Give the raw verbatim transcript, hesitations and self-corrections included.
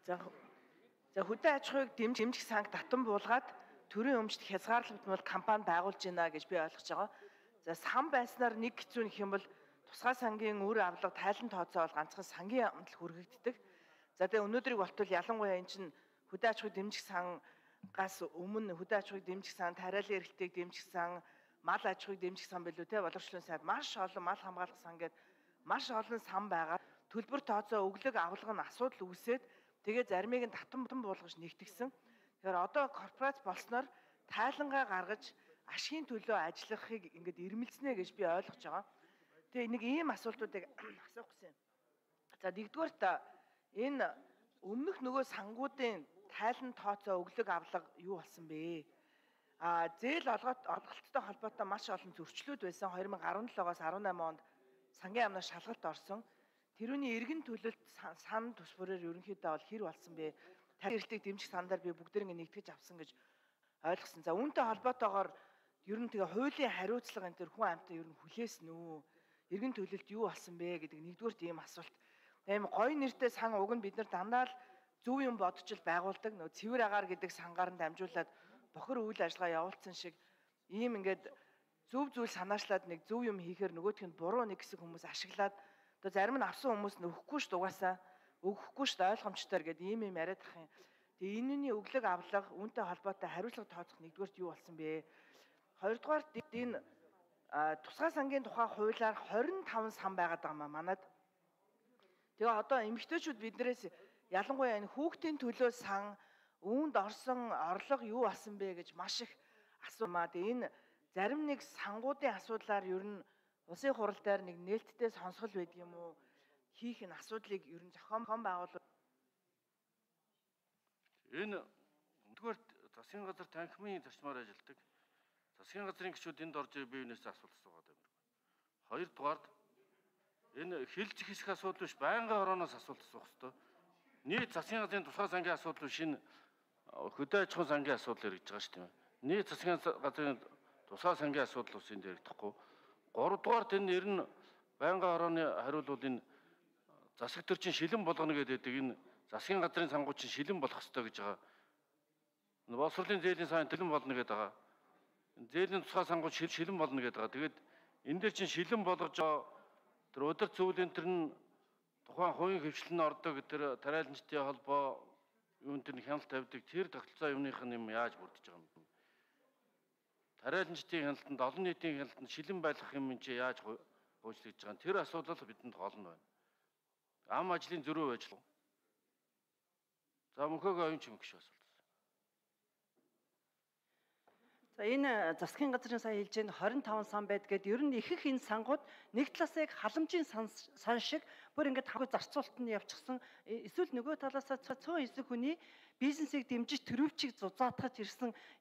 За за хөдөө аж ахуйг дэмжих санг татан буулгаад төрийн өмчт хязгаарлагдмал компани байгуулж байна гэж би ойлгож байгаа. За сан байснаар нэг хэцүү нэх юм бол тусгай сангийн үр авлага тайлан тооцоо бол ганцхан сангийн амтал хүргэгддэг. За тэгээ өнөөдрийг болтол ялангуяа эн чинь хөдөө аж ахуйг дэмжих сангаас өмнө хөдөө аж ахуйг дэмжих сан, тариалан эрхлэлтийг дэмжих сан, мал аж ахуйг дэмжих сан билүү те, боловсролын сайд маш олон мал хамгаалах сан гэдэг маш олон сан байгаа. Төлбөр тооцоо өглөг авлага нь асуудал үүсээд тэгээ заримыг нь татан буулгаж нэгтгсэн. Тэгэхээр одоо корпорац болсноор тайлангаа гаргаж ашигын төлөө ажиллахыг ингээд ирмэлцнэ гэж би ойлгож байгаа. Тэгээ нэг ийм асуултуудыг асуух гэсэн. За нэгдүгээр та энэ өмнөх нөгөө сангуудын тайлан тооцоо өглөг авлага юу болсон бэ? А зээл олгот олголттой холбоотой маш олон зөрчлүүд байсан. две тысячи десятоос десять онд сангийн амнаас шалгалт орсон. Тэрүүний эргэн төлөлт сан тус бүрээр ерөнхийдөө бол хэр болсон бэ? Тарих эрхлэлтийг дэмжих сандаар би бүгдэрийг нэгтгэж авсан гэж ойлгосон. За үүнтэй холбоотойгоор ер нь тэгээ хуулийн хариуцлага энэ төр хүн амьтаа ер нь хүлээсэн үү? Эргэн төлөлт юу болсон бэ гэдэг нэгдүгээр тийм асуулт. Тийм гоё нэртэй сан уг нь бид нар дандаа л зөв юм бодож л байгуулдаг. Нөө цэвэр агаар гэдэг сангаар нь дамжуулаад бохир үйл ажиллагаа явуулсан шиг ийм ингээд зөв зүйл санаачлаад нэг зөв юм хийхээр нөгөөх нь буруу нэг хэсэг хүмүүс ашиглаад одоо зарим нь авсан хүмүүс нь өгөхгүй ш дугаасаа өгөхгүй ш ойлгомжтой гэдэг ийм юм яриад ах юм. Тэгээ энэний өглөг авлага үүнтэй холбоотой хариуцлага тооцох нэгдүгээрт юу болсон бэ? Хоёрдугаарт энэ тусгай сангийн тухай хуулиар двадцать пять сан байгаад байгаа маа манад. Тэгээ одоо эмэгтэйчүүд биднээс ялангуяа энэ хүүхдийн төлөө сан үүнд орсон орлого юу болсон бэ гэж маш их асуумаа. Тэгээ энэ зарим нэг сангуудын асуудлаар ер нь улсын хурал дээр нэг нээлттэй сонсгол байдаг юм уу? Хийх энэ асуудлыг ер нь зохион байгуулалт. Энэ нэгдүгээр засгийн газар танхимын зарчмаар ажилладаг. Засгийн газрын гишүүд энд орж бие биенээсээ асуулт асуугаад байна. Хоёрдугаард энэ хилж хэсэх асуудал биш, байнгын орооноос асуулт асуух хэрэгтэй. Нийт засгийн газрын тусгай сангийн асуудал биш, энэ хөдөө аж ахуйн сангийн асуудал яригдж байгаа шүү дээ. Нийт засгийн газрын тусгай сангийн асуудал ус энд яригдахгүй. Гуравдугаарт энэ ер нь байнгын орооны хариул бол энэ засаг төрчин шилэн болгоно гэдэг энэ засгийн газрын сангууд чинь шилэн болох ёстой гэж байгаа. Боловсролын зээлийн сан төлөн болно гэдэг байгаа. Зээлийн тусгай сангууд шилэн болно гэдэг байгаа. Тэгээд энэ дээр чинь шилэн болгож тэр өдөр зөвлөлийн төр нь тухайн хувийн хөвчлэн ордог тэр тариаланчдын холбоо юунд тэр хяналт тавьдаг тэр тогтолцоо юмных нь юм яаж бүрдэж байгаа юм. Тариаланчдын хяналтанд олон нийтийн хяналтанд шилэн байлгах юм чи яаж хөөцлөж байгаа. Тэр асуудал бидэнд гол нь байна. Ам ажлын зөрүү ажил. За мөнхөөгөө оюун чимэг шүү асуулт. За энэ засгийн газрын сая хэлж байгаа двадцать пять сан байд гэдэг ер нь их их энэ сангууд нэг талаас яг халамжийн сан шиг бүр ингээд хавь зарцуулалт нь явчихсан. Эсвэл нөгөө талаас цөөн хэсэг хүний бизнесийг дэмжиж төрөвчийг зузаатгаж ирсэн